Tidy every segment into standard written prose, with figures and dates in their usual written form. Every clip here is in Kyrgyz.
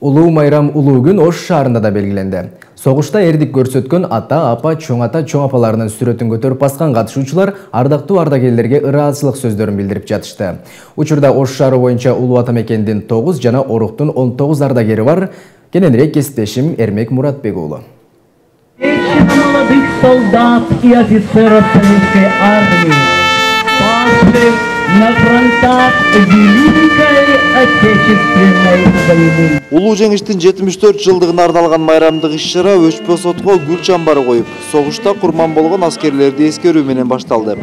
Улуу майрам улуу күн Ош шаарында да белгиленди. Согушта эрдик көрсөткөн ата, апа, чоң апаларынын сүрөтүн көтөрүп баскан катышуучулар ардактуу ардагерлерге ыраазычылык сөздөрүн билдирип жатышты. Учурда Ош шаары боюнча улуу ата мекендин 9 жана Оруктун 19 ардагери бар. Кененирээк кесиптешим Эрмек Муратбек уулу. Молодых солдат и офицеров советской армии, павших на фронтах Великой Отечественной войны. Улуу жеңиштин 74 жылдыгына ардалган майрамдык иш-чара Өчпө сотко гүл чамбары коюп, согушта курман болгон аскерлерди эскерүү менен башталды.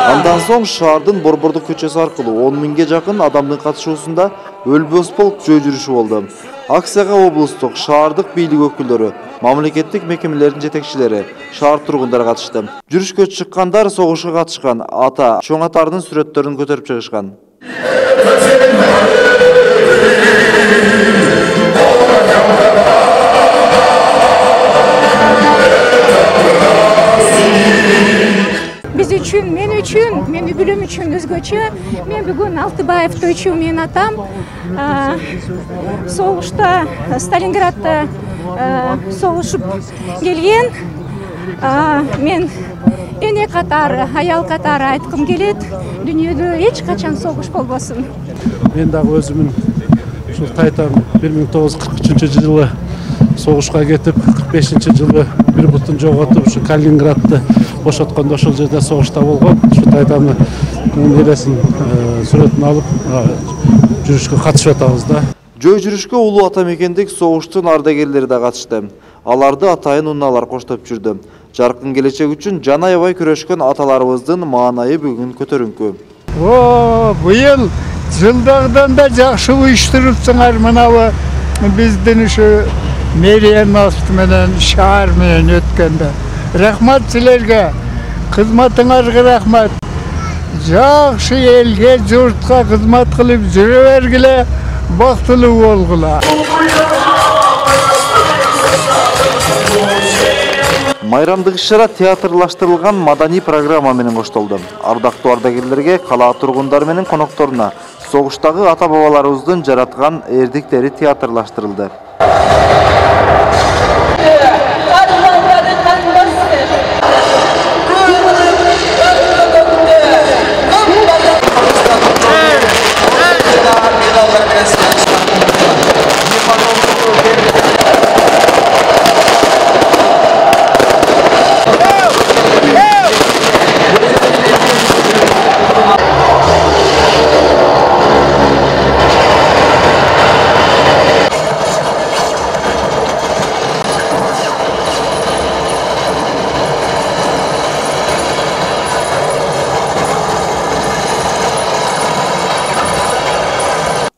Андан соң шаардын Борбордук көчөсү аркылуу 10 миңге жакын адамдын катышуусунда өлбөс полк жөө жүрүшү болду. Акцияга облустук, шаардык бийлик өкүлдөрү, мамлекеттик мекемелердин жетекчилери, шаар тургундары катышты. Жүрүшкө чыккандар согушка катышкан ата, чоң аталардын сүрөттөрүн көтөрүп чыгышкан. Biz üçün, men үй-бүлөм үчүн өзгөчө. Мен бүгүн Алтыбаев Тойчу, менин атам согушта Сталинградда согушуп келген. Мен эне катары, аял катары айткым келет, дүйнөдө эч качан согуш болбосун. Мен дагы өзүмүн ушул тайтам 1943-жылы согушка кетип, 45-жылы бир бутун жоготуп, ушу Калининградды бошоткондо ошол жерде согушта болгон. Ушу тайтамды нересин сүрөтүн алып жүрүшкө катышып атабыз да. Жөө жүрүшкө улуу ата мекендик согуштун ардагерлери да катышты. Аларды атайын унаалар коштоп жүрдү. Жаркын келечек үчүн жан аябай күрөшкөн аталарыбыздын маанайы бүгүн көтөрүңкү. Быйыл жылдагыдан да жакшы уюштурупсуңар, мынабы биздин ушу мэриянын менен шаар менен өткөндө. Рахмат силерге, кызматыңарга рахмат. Жакшы элге, журтка кызмат кылып жүрө бергиле, бактылуу болгула. Майрамдык иш-чара театрлаштырылган маданий программа менен коштолду. Ардактуу ардагерлерге, кала тургундары менен конокторуна согуштагы ата-бабаларыбыздын жараткан эрдиктери театрлаштырылды.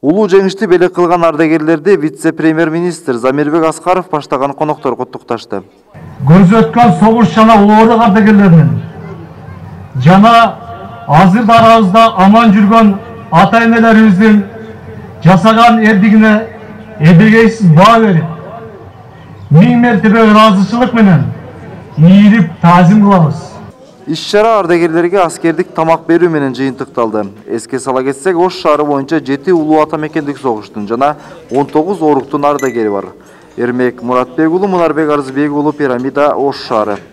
Улуу жеңишти белек кылган ардагерлерди вице-премьер-министр Замирбек Аскаров баштаган коноктор куттукташты. Көрсөткөн согуш жана улуу ардагерлеринин жана азыр арабызда аман жүргөн ата-энелерибиздин жасаган эрдигине эбегейсиз баа берип, 1000 мертебе ыраазычылык менен ийилип таазим кылабыз. Иш-чара ардагерлерге аскердик тамак берүү менен жыйынтыкталды. Эске сала кетсек, Ош шаары боюнча 7 улуу ата мекендик согуштун жана 19 Оруктун ардагери бар. Эрмек Муратбек уулу, Мунарбек Арзыбек уулу, Пирамида, Ош шаары.